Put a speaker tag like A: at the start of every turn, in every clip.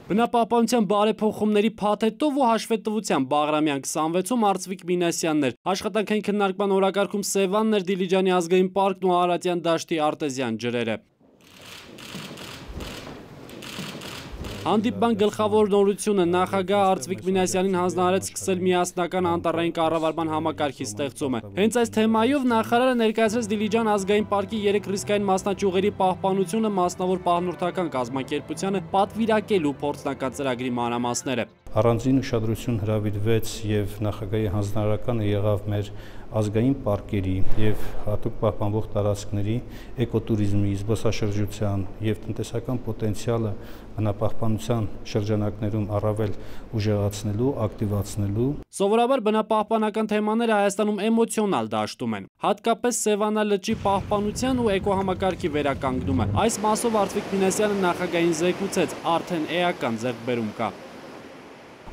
A: Բնապահպանության բարեփոխումների փաթեթով ու հաշվետվության Բաղրամյան 26-ում Արծվիկ Մինասյաններ, աշխատանքային քննարկման օրակարգում Սևաններ, Դիլիջանի ազգային պարկն ու Արարատյան դաշտի արտեզյան ջրերը։ Հանդիպման գլխավոր նորությունը նախագահ Արծվիկ Մինասյանին հանձնարարեց սկսել միասնական անտառային կառավարման համակարգի ստեղծումը։ Հենց այս թեմայով նախարարը ներկայացրեց Դիլիջան ազգային պարկի 3 ռիսկային մասնաճյուղերի պահպանությունը մասնավոր պահնորդական կազմակերպությանը պատվիրակելու փորձնական ծրագրի մանրամասները։
B: Առանձին ուշադրություն հրավիրվեց եւ նախագահի հանձնարարականը եղավ մեր ազգային պարկերի եւ հատուկ պահպանվող տարածքների էկոտուրիզմի, զբոսաշրջության եւ տնտեսական պոտենցիալը բնապահպանության շրջանակներում առավել ուժեղացնելու, ակտիվացնելու։
A: Սովորաբար բնապահպանական թեմաները Հայաստանում էմոցիոնալ դաշտում են, հատկապես Սևանա լճի պահպանության ու էկոհամակարգի վերականգնումը։ Այս մասով Արծվիկ Մինասյանը նախագահին զեկուցեց, արդեն էական ձեռքբերում կա։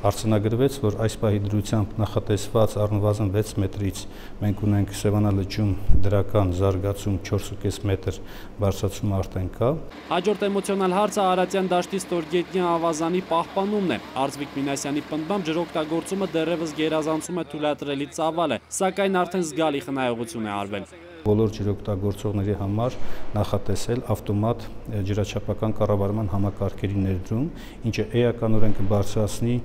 B: Արձանագրվեց, որ այս պահի դրությամբ նախատեսված առնվազն 6 մետրից մենք ունենք Սևանա լճում դրական զարգացում 4.5 մետր բարձրացում արդեն կա։
A: Հաջորդ էմոցիոնալ հարցը Արարատյան դաշտի ստորգետնյա ավազանի պահպանումն է։ Արծվիկ Մինասյանի պնդմամբ ջրօգտագործումը դեռևս գերազանցում է թույլատրելի ծավալը, սակայն արդեն զգալի խնայողություն է արվել։
B: Բոլոր ջրօգտագործողների համար նախատեսել ավտոմատ ջրաչափական կառավարման համակարգերի ներդրում, ինչը էականորեն կբարձրացնի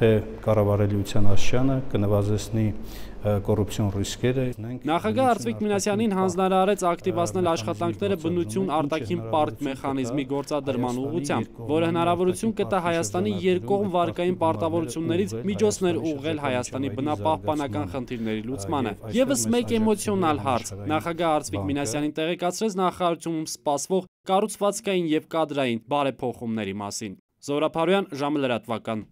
B: թե կառավարելիության աստիճանը, կնվազեցնի կոռուպցիոն ռիսկերը։
A: Նախագահ Արծվիկ Մինասյանին հանձնարարեց ակտիվացնել աշխատանքները բնություն արտաքին պարկ մեխանիզմի գործադրման ուղղությամբ, որը հնարավորություն կտա Հայաստանի երկկողմ վարկային պարտավորություններից միջոցներ ուղղել Հայաստանի բնապահպանական խնդիրների լուծմանը։ Եվս մեկ էմոցիոնալ հարց։ Նախագահ Արծվիկ Մինասյանին տեղեկացրեց նախարարությունում սպասվող կառուցվածքային եւ կադրային բարեփոխումների մասին։ Զորապարոյան, ժամը լրատվական։